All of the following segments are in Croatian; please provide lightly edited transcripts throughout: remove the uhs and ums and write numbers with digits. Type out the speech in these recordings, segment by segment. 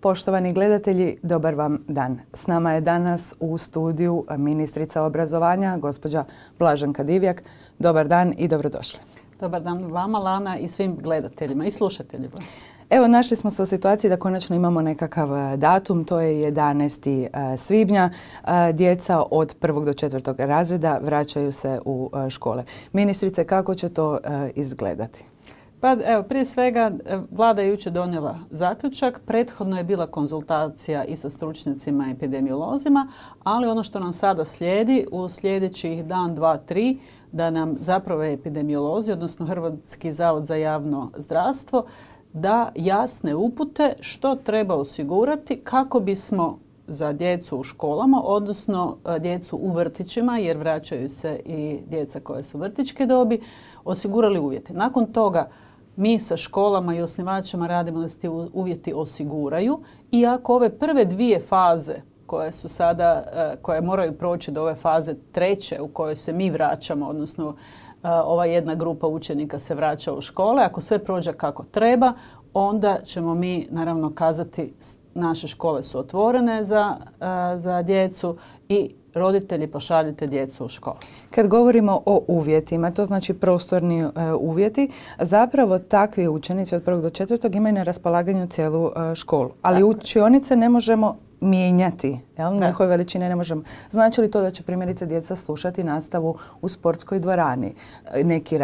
Poštovani gledatelji, dobar vam dan. S nama je danas u studiju ministrica obrazovanja, gospođa Blaženka Divjak. Dobar dan i dobrodošli. Dobar dan vama, Lana, i svim gledateljima i slušateljima. Evo, našli smo se u situaciji da konačno imamo nekakav datum, to je 11. svibnja. Djeca od 1. do 4. razreda vraćaju se u škole. Ministrice, kako će to izgledati? Pa evo, prije svega Vlada je jučer donijela zaključak. Prethodno je bila konzultacija i sa stručnjacima i epidemiolozima, ali ono što nam sada slijedi u sljedećih dan, dva, tri, da nam zapravo epidemiolozi, odnosno Hrvatski zavod za javno zdravstvo, da jasne upute što treba osigurati kako bismo za djecu u školama, odnosno djecu u vrtićima, jer vraćaju se i djeca koja su vrtićke dobi, osigurali uvjete. Nakon toga mi sa školama i osnivačima radimo da se ti uvjeti osiguraju, i ako ove prve dvije faze koje su sada, koje moraju proći do ove faze treće u kojoj se mi vraćamo, odnosno ova jedna grupa učenika se vraća u škole, ako sve prođe kako treba, onda ćemo mi naravno kazati naše škole su otvorene za djecu i roditelji pošaljite djecu u školu. Kad govorimo o uvjetima, to znači prostorni uvjeti, zapravo takvi učenici od 1. do 4. imaju na raspolaganju cijelu školu. Ali učionice ne možemo mijenjati, njihove veličine ne možemo. Znači li to da će primjerice djeca slušati nastavu u sportskoj dvorani, neki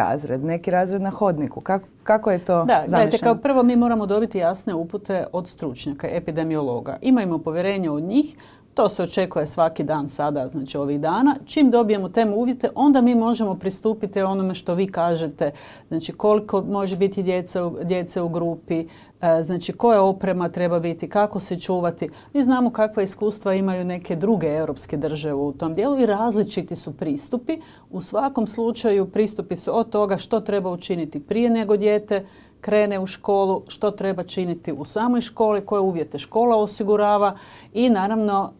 razred na hodniku? Kako je to zamišljeno? Gledajte, kao prvo mi moramo dobiti jasne upute od stručnjaka, epidemiologa. Imajmo povjerenje od njih. To se očekuje svaki dan sada, znači ovih dana. Čim dobijemo te uvjete, onda mi možemo pristupiti onome što vi kažete. Znači koliko može biti djece u grupi, znači koja oprema treba biti, kako se čuvati. Mi znamo kakva iskustva imaju neke druge europske države u tom dijelu i različiti su pristupi. U svakom slučaju pristupi su od toga što treba učiniti prije nego dijete krene u školu, što treba činiti u samoj školi, koje uvjete škola osigurava i naravno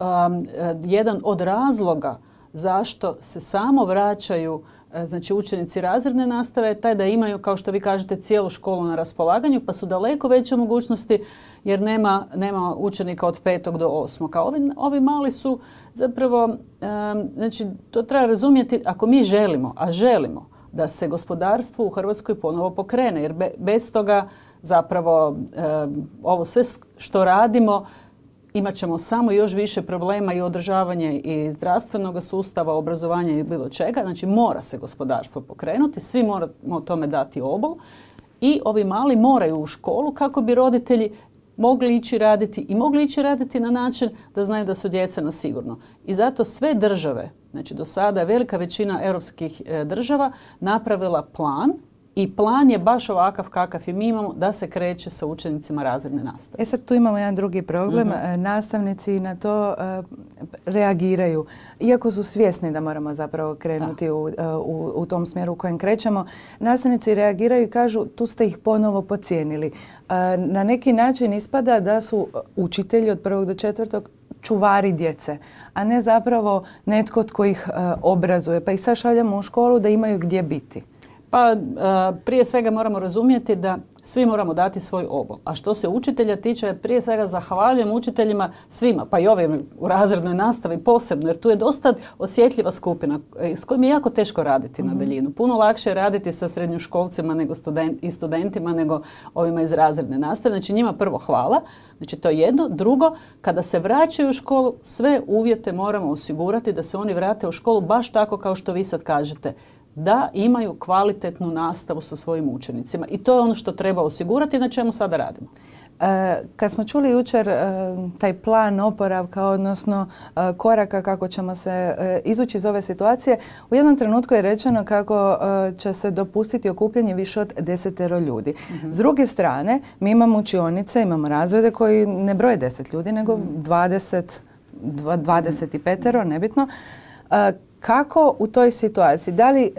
jedan od razloga zašto se samo vraćaju znači učenici razredne nastave je taj da imaju, kao što vi kažete, cijelu školu na raspolaganju, pa su daleko veće mogućnosti jer nema učenika od 5. do 8. Kao ovi mali su zapravo, znači to treba razumjeti ako mi želimo, a želimo, da se gospodarstvo u Hrvatskoj ponovo pokrene, jer bez toga zapravo ovo sve što radimo imat ćemo samo još više problema i održavanje i zdravstvenog sustava, obrazovanja i bilo čega. Znači mora se gospodarstvo pokrenuti, svi moramo tome dati obol i ovi mali moraju u školu kako bi roditelji mogli ići raditi i mogli ići raditi na način da znaju da su djeca na sigurno. I zato sve države, znači do sada je velika većina europskih država napravila plan i plan je baš ovakav kakav i mi imamo da se kreće sa učenicima razredne nastave. Sad tu imamo jedan drugi problem. Nastavnici na to reagiraju. Iako su svjesni da moramo zapravo krenuti u tom smjeru u kojem krećemo, nastavnici reagiraju i kažu tu ste ih ponovo podcijenili. Na neki način ispada da su učitelji od 1. do 4. čuvari djece, a ne zapravo netko tko ih obrazuje. Pa ih sad šaljamo u školu da imaju gdje biti. Pa prije svega moramo razumjeti da svi moramo dati svoj obol. A što se učitelja tiče, prije svega zahvaljujem učiteljima svima, pa i ovim u razrednoj nastavi posebno, jer tu je dosta osjetljiva skupina s kojim je jako teško raditi na daljinu. Puno lakše je raditi sa srednjoškolcima i studentima nego ovima iz razredne nastave. Znači njima prvo hvala. Znači to je jedno. Drugo, kada se vraćaju u školu, sve uvjete moramo osigurati da se oni vrate u školu baš tako kao što vi sad kažete, da imaju kvalitetnu nastavu sa svojim učenicima. I to je ono što treba osigurati, na čemu sada radimo. Kad smo čuli jučer taj plan oporavka, odnosno koraka kako ćemo se izvući iz ove situacije, u jednom trenutku je rečeno kako će se dopustiti okupljanje više od 10 ljudi. S druge strane, mi imamo učionice, imamo razrede koji ne broje 10 ljudi, nego 25, nebitno. Kako u toj situaciji? Da li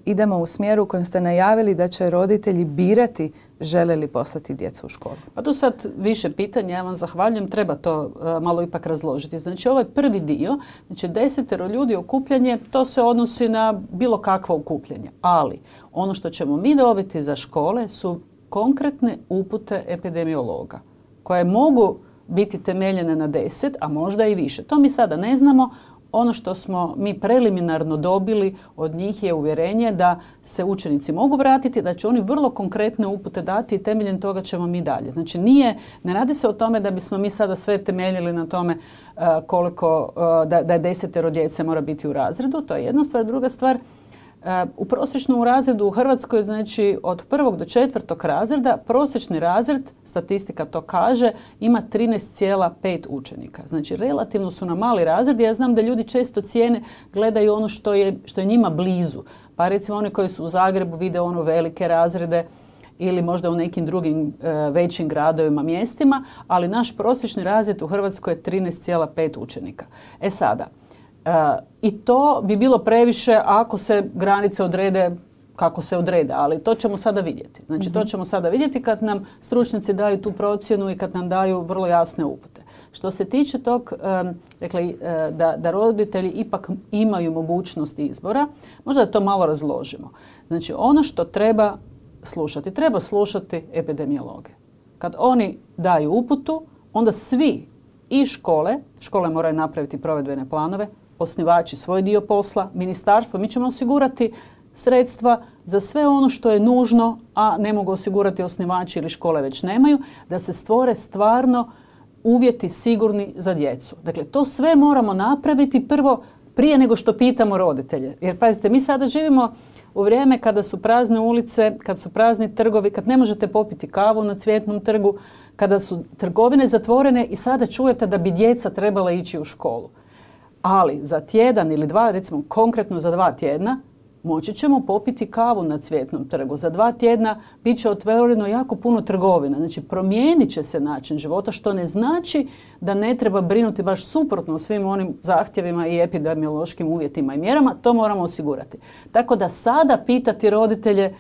idemo u smjeru u kojem ste najavili da će roditelji birati žele li poslati djecu u školu? Pa tu sad više pitanja, ja vam zahvaljujem, treba to malo ipak razložiti. Znači ovaj prvi dio, znači 10 ljudi okupljanje, to se odnosi na bilo kakvo okupljanje. Ali ono što ćemo mi dobiti za škole su konkretne upute epidemiologa koje mogu biti temeljene na 10, a možda i više. To mi sada ne znamo. Ono što smo mi preliminarno dobili od njih je uvjerenje da se učenici mogu vratiti, da će oni vrlo konkretne upute dati i temeljem toga ćemo mi dalje. Znači ne radi se o tome da bismo mi sada sve temeljili na tome koliko, da je 10 djece mora biti u razredu. To je jedna stvar. Druga stvar, u prosječnom razredu u Hrvatskoj, znači od 1. do 4. razreda, prosječni razred, statistika to kaže, ima 13,5 učenika. Znači relativno su na mali razred. Ja znam da ljudi često cijene, gledaju ono što je njima blizu. Pa recimo oni koji su u Zagrebu vide ono velike razrede ili možda u nekim drugim većim gradovima, mjestima, ali naš prosječni razred u Hrvatskoj je 13,5 učenika. E sada, i to bi bilo previše ako se granice odrede kako se odrede, ali to ćemo sada vidjeti. Znači to ćemo sada vidjeti kad nam stručnjaci daju tu procjenu i kad nam daju vrlo jasne upute. Što se tiče tog, da roditelji ipak imaju mogućnost izbora, možda da to malo razložimo. Znači ono što treba slušati epidemiologe. Kad oni daju uputu, onda svi i škole moraju napraviti provedbene planove, osnivači svoj dio posla, ministarstvo, mi ćemo osigurati sredstva za sve ono što je nužno, a ne mogu osigurati osnivači ili škole već nemaju, da se stvore stvarno uvjeti sigurni za djecu. Dakle, to sve moramo napraviti prvo prije nego što pitamo roditelje. Jer pazite, mi sada živimo u vrijeme kada su prazne ulice, kad su prazni trgovi, kad ne možete popiti kavu na Cvjetnom trgu, kada su trgovine zatvorene i sada čujete da bi djeca trebala ići u školu. Ali za tjedan ili dva, recimo konkretno za 2 tjedna, moći ćemo popiti kavu na Cvjetnom trgu. Za 2 tjedna bit će otvoreno jako puno trgovina. Znači promijenit će se način života, što ne znači da ne treba brinuti baš suprotno o svim onim zahtjevima i epidemiološkim uvjetima i mjerama. To moramo osigurati. Tako da sada pitati roditelje,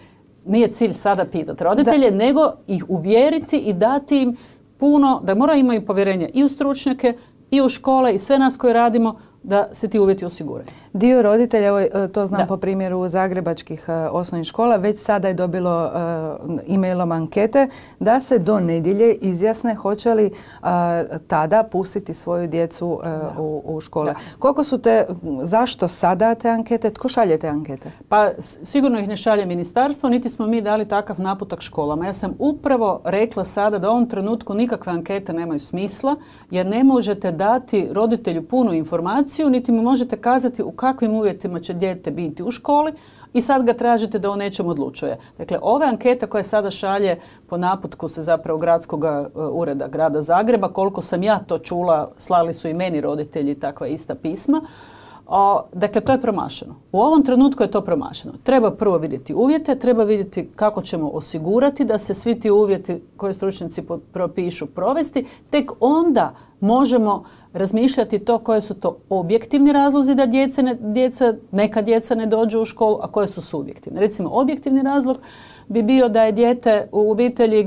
nije cilj sada pitati roditelje, nego ih uvjeriti i dati im puno, da moraju imati povjerenje i u stručnjake, i u škole i sve nas koji radimo, da se ti uvjeti osiguraju. Dio roditelja, to znam po primjeru zagrebačkih osnovnih škola, već sada je dobilo e-mailom ankete da se do nedjelje izjasne hoće li tada pustiti svoju djecu u škole. Koliko su zašto sada te ankete? Tko šalje te ankete? Pa sigurno ih ne šalje ministarstvo, niti smo mi dali takav naputak školama. Ja sam upravo rekla sada da u ovom trenutku nikakve ankete nemaju smisla, jer ne možete dati roditelju punu informaciju, niti mu možete kazati u kakvim uvjetima će dijete biti u školi i sad ga tražite da o nečem odlučuje. Dakle, ove ankete koje sada šalje po naputku se zapravo gradskog ureda grada Zagreba, koliko sam ja to čula, slali su i meni roditelji takva ista pisma. Dakle, to je promašeno. U ovom trenutku je to promašeno. Treba prvo vidjeti uvjete, treba vidjeti kako ćemo osigurati da se svi ti uvjeti koje stručnjaci propišu provesti, tek onda možemo razmišljati to koje su to objektivni razlozi da neka djeca ne dođu u školu, a koje su subjektivni. Recimo, objektivni razlog bi bio da je dijete u obitelji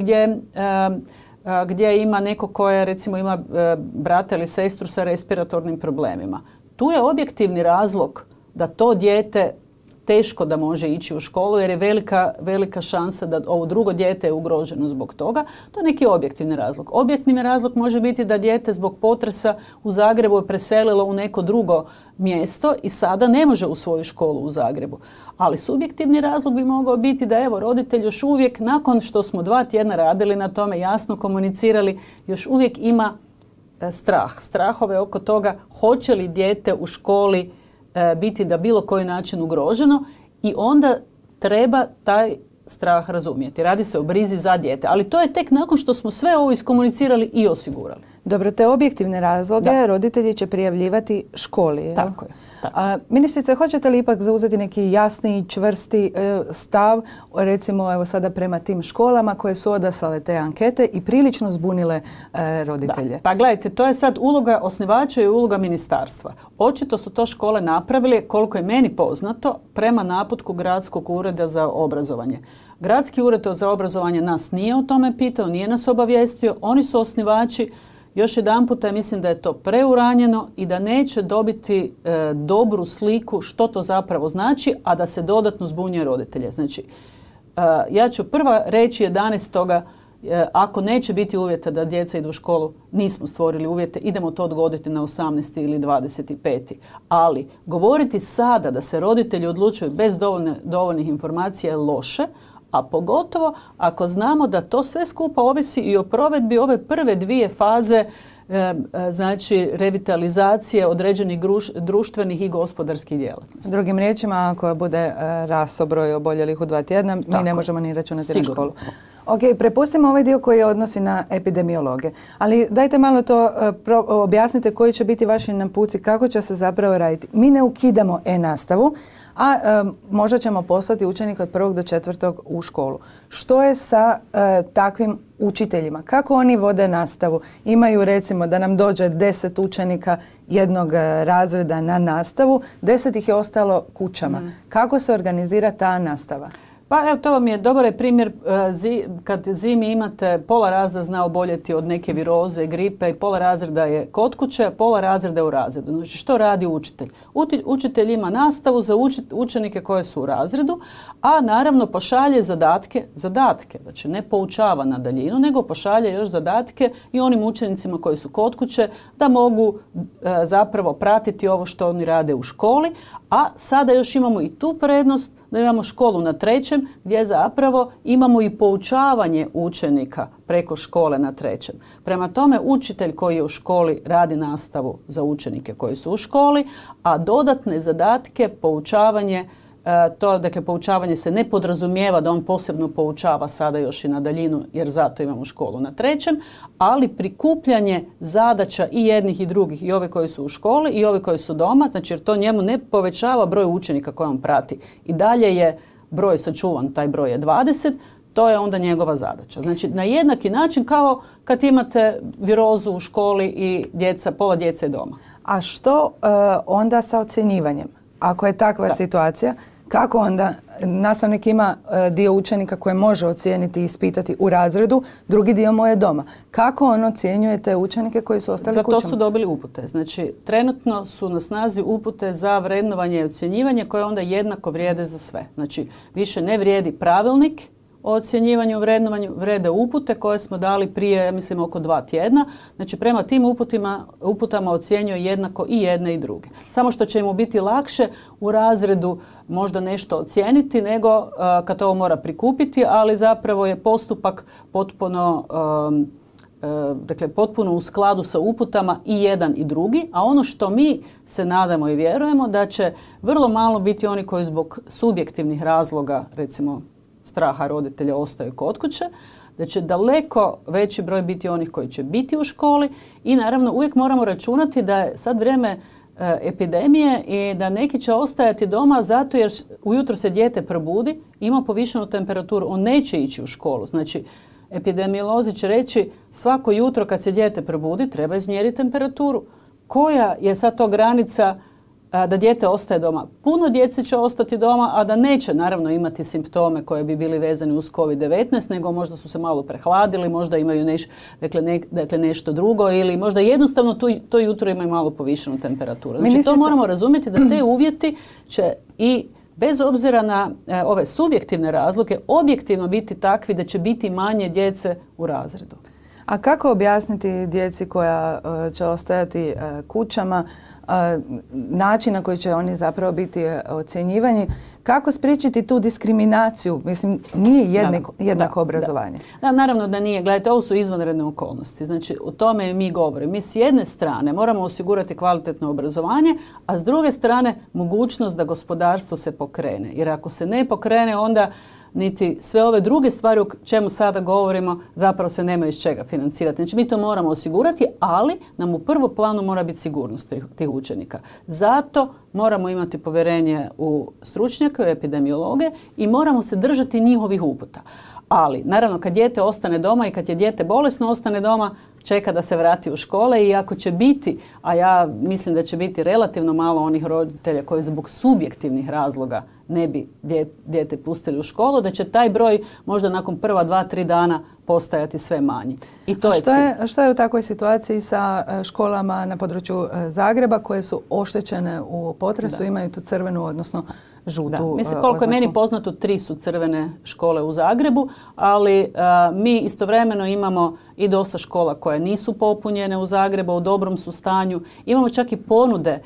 gdje ima neko koje recimo ima brata ili sestru sa respiratornim problemima. Tu je objektivni razlog da to dijete teško da može ići u školu jer je velika šansa da ovo drugo dijete je ugroženo zbog toga. To je neki objektivni razlog. Objektivni razlog može biti da dijete zbog potresa u Zagrebu je preselilo u neko drugo mjesto i sada ne može u svoju školu u Zagrebu. Ali subjektivni razlog bi mogao biti da evo roditelj još uvijek nakon što smo 2 tjedna radili na tome, jasno komunicirali, još uvijek ima strahove oko toga hoće li dijete u školi biti na bilo koji način ugroženo i onda treba taj strah razumjeti. Radi se o brizi za dijete, ali to je tek nakon što smo sve ovo iskomunicirali i osigurali. Dobro, te objektivne razloge roditelji će prijavljivati školi. Jel? Tako je. Ministrice, hoćete li ipak zauzeti neki jasni i čvrsti stav, recimo evo sada prema tim školama koje su odaslale te ankete i prilično zbunile roditelje? Da. Pa gledajte, to je sad uloga osnivača i uloga ministarstva. Očito su to škole napravili, koliko je meni poznato, prema naputku Gradskog ureda za obrazovanje. Gradski ured za obrazovanje nas nije o tome pitao, nije nas obavijestio, oni su osnivači. Još jedanput, ja mislim da je to preuranjeno i da neće dobiti dobru sliku što to zapravo znači, a da se dodatno zbunjuje roditelje. Znači, ja ću prva reći 11. Ako neće biti uvjeta da djeca idu u školu, nismo stvorili uvjete, idemo to odgoditi na 18. ili 25. Ali govoriti sada da se roditelji odlučuju bez dovoljnih informacija je loše, a pogotovo ako znamo da to sve skupa ovisi i o provedbi ove prve 2 faze, znači revitalizacije određenih društvenih i gospodarskih djelatnosti. Drugim riječima, ako bude rastao broj oboljelih u 2 tjedna, mi ne možemo ni računati na školu. Ok, prepustimo ovaj dio koji je odnosi na epidemiologe. Ali dajte malo to objasnite koji će biti vaši naputci, kako će se zapravo raditi. Mi ne ukidamo e-nastavu, a možda ćemo poslati učenika od 1. do 4. u školu. Što je sa takvim učiteljima? Kako oni vode nastavu? Imaju recimo da nam dođe 10 učenika jednog razreda na nastavu, 10 ih je ostalo kućama. Kako se organizira ta nastava? Pa evo, to vam je dobar primjer kad zimi imate pola razreda zna oboljeti od neke viroze, gripe i pola razreda je kod kuće, a pola razreda je u razredu. Znači što radi učitelj? Učitelj ima nastavu za učenike koje su u razredu, a naravno pošalje zadatke, znači ne poučava na daljinu, nego pošalje još zadatke i onim učenicima koji su kod kuće da mogu zapravo pratiti ovo što oni rade u školi, a sada još imamo i tu prednost da imamo školu na 3. gdje zapravo imamo i poučavanje učenika preko škole na 3. Prema tome, učitelj koji je u školi radi nastavu za učenike koji su u školi, a dodatne zadatke, poučavanje, dakle poučavanje se ne podrazumijeva da on posebno poučava sada još i na daljinu jer zato imamo školu na 3. ali prikupljanje zadaća i jednih i drugih, i ove koji su u školi i ove koji su doma, znači jer to njemu ne povećava broj učenika koje on prati. I dalje je broj sačuvan, taj broj je 20, to je onda njegova zadaća. Znači na jednaki način kao kad imate virozu u školi i pola djece je doma. A što onda sa ocjenjivanjem? Ako je takva situacija, kako onda nastavnik ima dio učenika koje može ocijeniti i ispitati u razredu, drugi dio mu je doma. Kako on ocjenjuje te učenike koji su ostali kućama? Za to su dobili upute. Znači, trenutno su na snazi upute za vrednovanje i ocjenjivanje koje onda jednako vrijede za sve. Znači, više ne vrijedi pravilnik o ocjenjivanju i vrednovanju, vrijede upute koje smo dali prije, ja mislim, oko 2 tjedna. Znači, prema tim uputama ocjenjuje jednako i jedne i druge. Samo što će mu biti lakše u razredu možda nešto ocijeniti nego kad ovo mora prikupiti, ali zapravo je postupak potpuno u skladu sa uputama i jedan i drugi, a ono što mi se nadamo i vjerujemo da će vrlo malo biti oni koji zbog subjektivnih razloga, recimo straha roditelja, ostaju kod kuće, da će daleko veći broj biti onih koji će biti u školi i naravno uvijek moramo računati da je sad vrijeme epidemije i da neki će ostajati doma zato jer ujutro se dijete probudi, ima povišenu temperaturu, on neće ići u školu. Znači, epidemiolozi će reći svako jutro kad se dijete probudi treba izmjeriti temperaturu. Koja je sad to granica da dijete ostaje doma? Puno djece će ostati doma, a da neće naravno imati simptome koje bi bili vezani uz COVID-19, nego možda su se malo prehladili, možda imaju nešto drugo ili možda jednostavno to jutro imaju malo povišenu temperaturu. Znači to moramo razumjeti da te uvjeti će i bez obzira na ove subjektivne razloge objektivno biti takvi da će biti manje djece u razredu. A kako objasniti djeci koja će ostajati kućama način na koji će oni zapravo biti ocjenjivani, kako spriječiti tu diskriminaciju? Mislim, nije jednako obrazovanje. Da, naravno da nije. Gledajte, ovo su izvanredne okolnosti. Znači, o tome mi govorimo. Mi s jedne strane moramo osigurati kvalitetno obrazovanje, a s druge strane mogućnost da gospodarstvo se pokrene. Jer ako se ne pokrene, onda niti sve ove druge stvari o čemu sada govorimo zapravo se nema iz čega financirati. Znači mi to moramo osigurati, ali nam u prvom planu mora biti sigurnost tih učenika. Zato moramo imati povjerenje u stručnjake, u epidemiologe i moramo se držati njihovih uputa. Ali, naravno, kad dijete ostane doma i kad je dijete bolesno ostane doma, čeka da se vrati u škole i ako će biti, a ja mislim da će biti relativno malo onih roditelja koji zbog subjektivnih razloga ne bi dijete pustili u školu, da će taj broj možda nakon prva 2-3 dana postajati sve manji. I to je cilj. Što je u takvoj situaciji sa školama na području Zagreba koje su oštećene u potresu, imaju tu crvenu, odnosno žutu Mislim, koliko je meni poznato, 3 su crvene škole u Zagrebu, ali mi istovremeno imamo i dosta škola koje nisu popunjene u Zagrebu, u dobrom su stanju. Imamo čak i ponude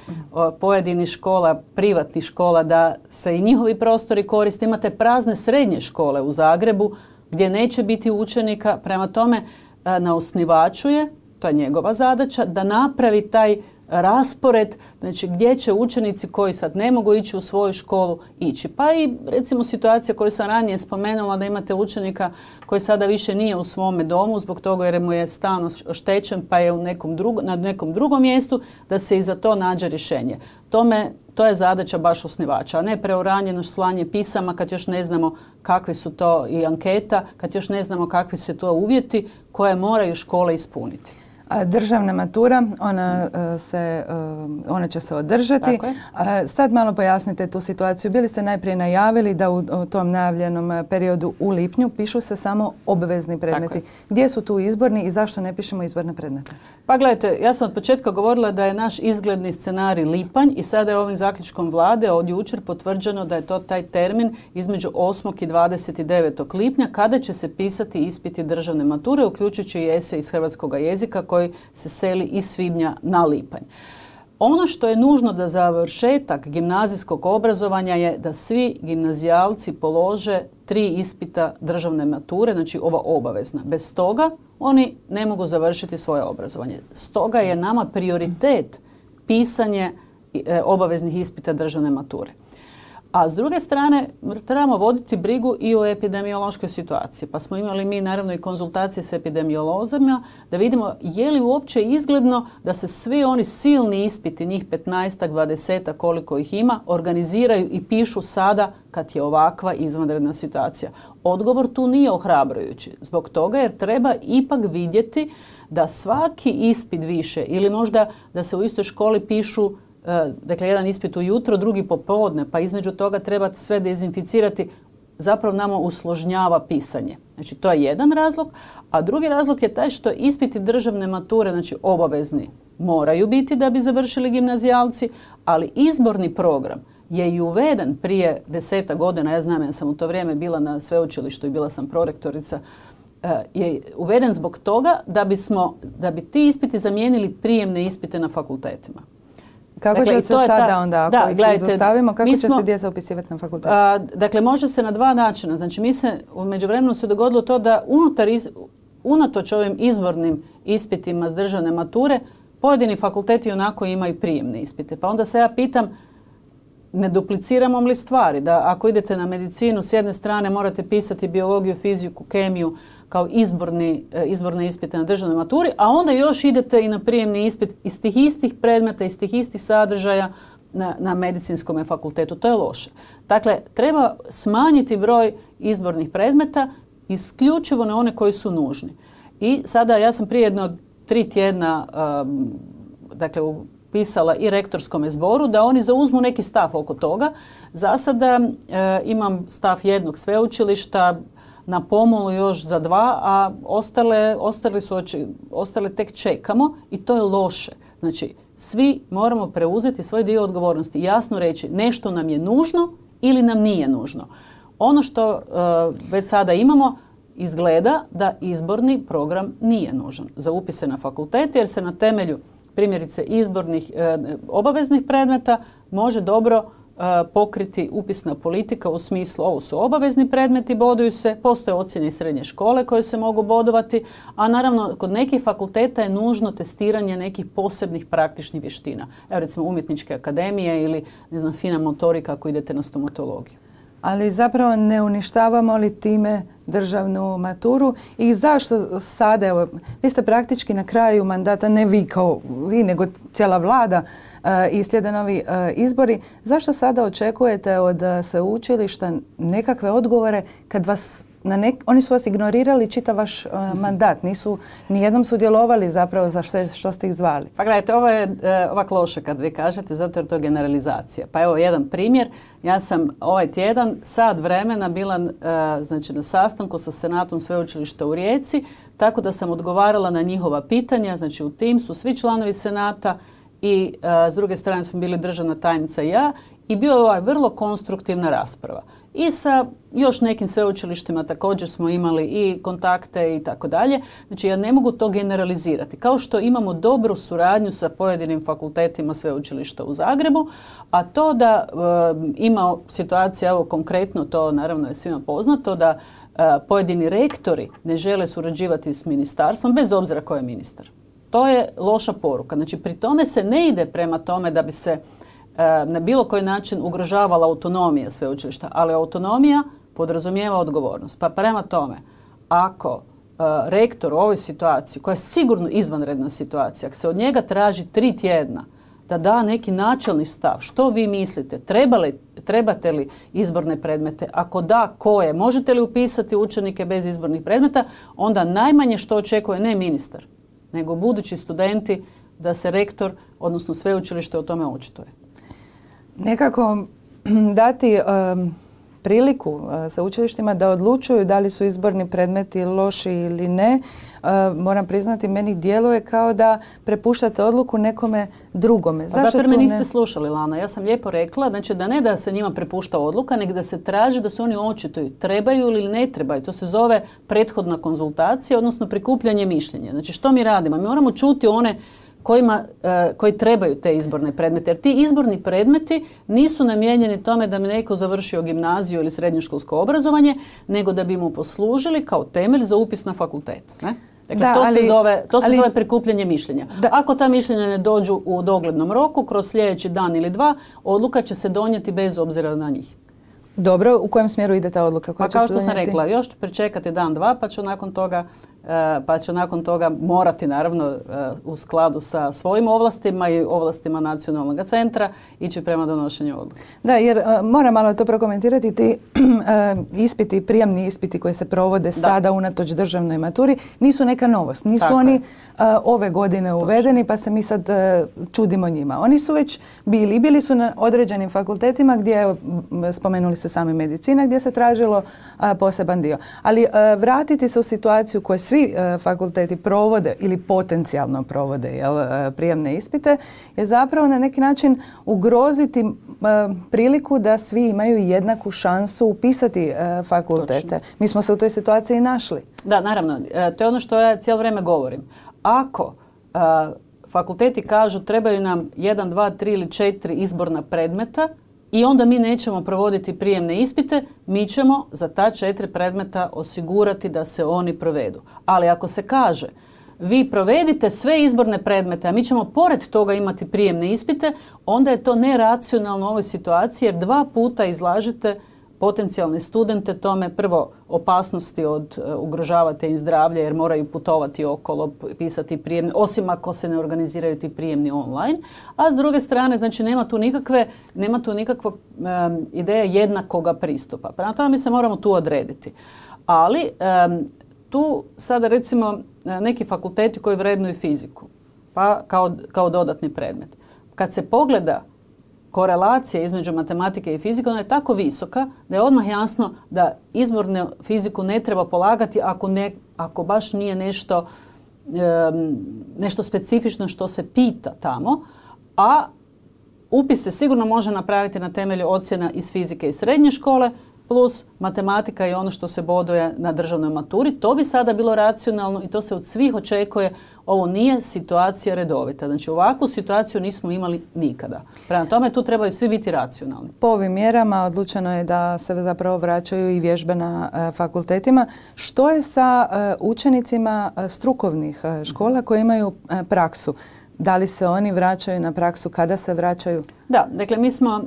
pojedinih škola, privatnih škola, da se i njihovi prostori koriste. Imate prazne srednje škole u Zagrebu gdje neće biti učenika. Prema tome, na osnivaču je, to je njegova zadaća, da napravi taj raspored, znači gdje će učenici koji sad ne mogu ići u svoju školu ići. Pa i recimo situacija koju sam ranije spomenula, da imate učenika koji sada više nije u svome domu zbog toga jer mu je stan oštećen pa je na nekom drugom mjestu, da se i za to nađe rješenje. To je zadaća baš osnivača, a ne preuranjeno slanje pisama kad još ne znamo kakvi su to i anketa, kad još ne znamo kakvi su to uvjeti koje moraju škole ispuniti. Državna matura, ona će se održati. Sad malo pojasnite tu situaciju. Bili ste najprije najavili da u tom najavljenom periodu u lipnju pišu se samo obvezni predmeti. Gdje su tu izborni i zašto ne pišemo izborne predmete? Pa gledajte, ja sam od početka govorila da je naš izgledni scenarij lipanj i sada je ovim zaključkom vlade od jučer potvrđeno da je to taj termin između 8. i 29. lipnja kada će se pisati ispiti državne mature, uključujući i esej iz hrvatskog jezika koji se seli iz svibnja na lipanj. Ono što je nužno da završetak gimnazijskog obrazovanja je da svi gimnazijalci polože 3 ispita državne mature, znači ova obavezna. Bez toga oni ne mogu završiti svoje obrazovanje. Stoga je nama prioritet pisanje obaveznih ispita državne mature. A s druge strane, trebamo voditi brigu i o epidemiološkoj situaciji. Pa smo imali mi naravno i konzultacije s epidemiolozima da vidimo je li uopće izgledno da se svi oni silni ispiti, njih 15-ak, 20-ak koliko ih ima, organiziraju i pišu sada kad je ovakva izvanredna situacija. Odgovor tu nije ohrabrujući. Zbog toga jer treba ipak vidjeti da svaki ispit više ili možda da se u istoj školi pišu dakle jedan ispit ujutro, drugi popodne, pa između toga treba sve dezinficirati, zapravo nama usložnjava pisanje. Znači to je jedan razlog, a drugi razlog je taj što ispiti državne mature, znači obavezni, moraju biti da bi završili gimnazijalci, ali izborni program je i uveden prije 10 godina, ja znam, ja sam u to vrijeme bila na sveučilištu i bila sam prorektorica, je uveden zbog toga da bi ti ispiti zamijenili prijemne ispite na fakultetima. Kako će se sada onda, ako ih izostavimo, kako će se djeca upisivati na fakultet? Dakle, može se na 2 načina. Znači, u međuvremenu se dogodilo to da unatoč ovim izbornim ispitima s državne mature, pojedini fakulteti onako imaju prijemne ispite. Pa onda se ja pitam, ne dupliciramo li stvari? Da ako idete na medicinu, s jedne strane morate pisati biologiju, fiziku, kemiju, kao izborne ispite na državnoj maturi, a onda još idete i na prijemni ispit iz tih istih predmeta, iz tih istih sadržaja na medicinskom fakultetu. To je loše. Dakle, treba smanjiti broj izbornih predmeta isključivo na one koji su nužni. I sada ja sam prije 3 tjedna pisala i rektorskome zboru da oni zauzmu neki stav oko toga. Za sada imam stav jednog sveučilišta, na pomolu još za 2, a ostale tek čekamo i to je loše. Znači, svi moramo preuzeti svoj dio odgovornosti i jasno reći nešto nam je nužno ili nam nije nužno. Ono što već sada imamo izgleda da izborni program nije nužan za upise na fakultet jer se na temelju primjerice izbornih obaveznih predmeta može dobro pokriti upisna politika u smislu ovo su obavezni predmeti, boduju se, postoje ocjene iz srednje škole koje se mogu bodovati, a naravno kod nekih fakulteta je nužno testiranje nekih posebnih praktičnih vještina. Evo recimo umjetničke akademije ili ne znam, fina motorika ako idete na stomatologiju. Ali zapravo ne uništavamo li time državnu maturu i zašto sada, evo, vi ste praktički na kraju mandata, ne vi kao vi, nego cijela vlada, i slijede novi izbori. Zašto sada očekujete od sveučilišta nekakve odgovore kad vas oni su vas ignorirali čitav vaš mandat, nisu nijednom sudjelovali zapravo za što ste ih zvali? Pa gledajte, ovo je ovak loše kad vi kažete, zato jer to je generalizacija. Pa evo jedan primjer. Ja sam ovaj tjedan sat vremena bila znači, na sastanku sa Senatom Sveučilišta u Rijeci, tako da sam odgovarala na njihova pitanja. Znači u tim su svi članovi Senata i s druge strane smo bili državna tajnica i ja i bio je vrlo konstruktivna rasprava. I sa još nekim sveučilištima također smo imali i kontakte i tako dalje. Znači ja ne mogu to generalizirati. Kao što imamo dobru suradnju sa pojedinim fakultetima sveučilišta u Zagrebu, a to da ima situacija, evo konkretno to naravno je svima poznato, da pojedini rektori ne žele surađivati s ministarstvom bez obzira ko je ministar. To je loša poruka. Znači pri tome se ne ide prema tome da bi se na bilo koji način ugrožavala autonomija sveučilišta, ali autonomija podrazumijeva odgovornost. Pa prema tome, ako rektor u ovoj situaciji, koja je sigurno izvanredna situacija, ako se od njega traži 3 tjedna da da neki načelni stav, što vi mislite, trebate li izborne predmete, ako da, koje, možete li upisati učenike bez izbornih predmeta, onda najmanje što očekuje ne ministar, nego budući studenti da se rektor, odnosno sveučilište o tome očituje. Nekako dati priliku sveučilištima da odlučuju da li su izborni predmeti loši ili ne, moram priznati, meni djeluje kao da prepuštate odluku nekome drugome. Zato jer me niste slušali, Lana. Ja sam lijepo rekla, znači da ne da se njima prepušta odluka, nego da se traži da se oni očituju. Trebaju ili ne trebaju. To se zove prethodna konzultacija, odnosno prikupljanje mišljenja. Znači što mi radimo? Mi moramo čuti one koji trebaju te izborne predmete. Jer ti izborni predmeti nisu namijenjeni tome da bi neko završio gimnaziju ili srednjoškolsko obrazovanje, nego da bi mu poslužili kao temelj za upis na fakultet. Ne? Dakle, to se zove prikupljanje mišljenja. Ako ta mišljenja ne dođu u doglednom roku, kroz sljedeći dan ili 2, odluka će se donijeti bez obzira na njih. Dobro, u kojem smjeru ide ta odluka? Pa kao što sam rekla, još ću pričekati dan, 2, pa ću nakon toga morati, naravno, u skladu sa svojim ovlastima i ovlastima Nacionalnog centra ići prema donošenju odluke. Da, jer moram malo to prokomentirati. Ti ispiti, prijemni ispiti koji se provode sada unatoč državnoj maturi, nisu neka novost. Nisu oni ove godine uvedeni, pa se mi sad čudimo njima. Oni su već bili su na određenim fakultetima gdje, spomenuli se sami medicina, gdje se tražilo poseban dio. Ali vratiti se u situaciju koju svi fakulteti provode ili potencijalno provode prijemne ispite je zapravo na neki način ugroziti priliku da svi imaju jednaku šansu upisati fakultete. Točno. Mi smo se u toj situaciji našli. Da, naravno. To je ono što ja cijelo vrijeme govorim. Ako fakulteti kažu trebaju nam 1, 2, 3 ili 4 izborna predmeta i onda mi nećemo provoditi prijemne ispite, mi ćemo za ta 4 predmeta osigurati da se oni provedu. Ali ako se kaže vi provedite sve izborne predmete, a mi ćemo pored toga imati prijemne ispite, onda je to neracionalno u ovoj situaciji jer 2 puta izlažete potencijalne studente tome, prvo opasnosti od ugrožavate im zdravlje jer moraju putovati okolo, pisati prijemne, osim ako se ne organiziraju ti prijemni online, a s druge strane znači nema tu nikakva ideja jednakoga pristupa. Prema tome mi se moramo tu odrediti. Ali tu sada recimo neki fakulteti koji vrednuju fiziku, pa kao dodatni predmet. Kad se pogleda korelacija između matematike i fizike, ona je tako visoka da je odmah jasno da izbornu fiziku ne treba polagati ako baš nije nešto specifično što se pita tamo, a upis se sigurno može napraviti na temelju ocjena iz fizike i srednje škole, plus matematika i ono što se boduje na državnoj maturi. To bi sada bilo racionalno i to se od svih očekuje. Ovo nije situacija redovita. Znači ovakvu situaciju nismo imali nikada. Prema tome tu trebaju svi biti racionalni. Po ovim mjerama odlučeno je da se zapravo vraćaju i vježbe na fakultetima. Što je sa učenicima strukovnih škola koji imaju praksu? Da li se oni vraćaju na praksu, kada se vraćaju? Da, dakle mi smo,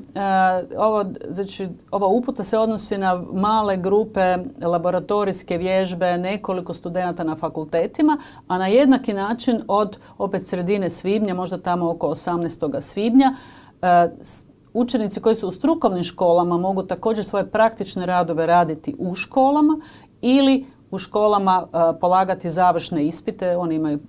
ova uputa se odnosi na male grupe, laboratorijske vježbe, nekoliko studenata na fakultetima, a na jednaki način od opet sredine svibnja, možda tamo oko 18. svibnja, učenici koji su u strukovnim školama mogu također svoje praktične radove raditi u školama ili u školama polagati završne ispite, oni imaju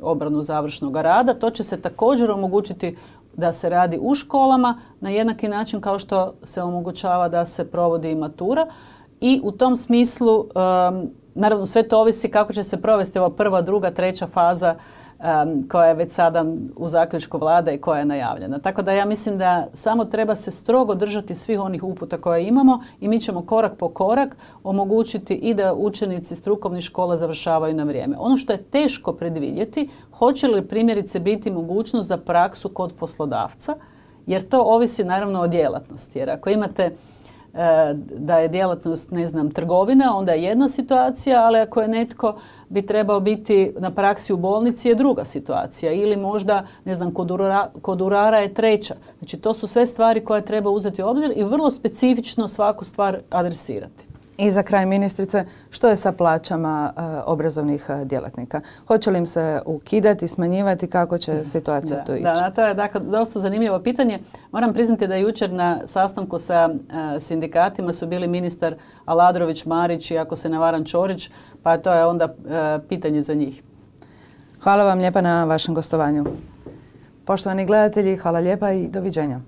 obranu završnog rada. To će se također omogućiti da se radi u školama na jednaki način kao što se omogućava da se provodi i matura. I u tom smislu, naravno sve to ovisi kako će se provesti ova prva, druga, treća faza koja je već sada u zaključku Vlade i koja je najavljena. Tako da ja mislim da samo treba se strogo držati svih onih uputa koje imamo i mi ćemo korak po korak omogućiti i da učenici strukovnih škola završavaju na vrijeme. Ono što je teško predvidjeti, hoće li primjerice biti mogućnost za praksu kod poslodavca, jer to ovisi naravno o djelatnosti. Jer ako imate da je djelatnost, ne znam, trgovina, onda je jedna situacija, ali ako je netko bi trebao biti na praksi u bolnici je druga situacija. Ili možda, ne znam, kod urara je treća. Znači, to su sve stvari koje treba uzeti u obzir i vrlo specifično svaku stvar adresirati. I za kraj, ministrice, što je sa plaćama obrazovnih djelatnika? Hoće li im se ukidati, smanjivati, kako će situacija tu ići? Da, to je dakle dosta zanimljivo pitanje. Moram priznati da jučer na sastanku sa sindikatima su bili ministar Aladrović, Marić i ako se ne varam Ćorić, pa to je onda pitanje za njih. Hvala vam lijepa na vašem gostovanju. Poštovani gledatelji, hvala lijepa i doviđenja.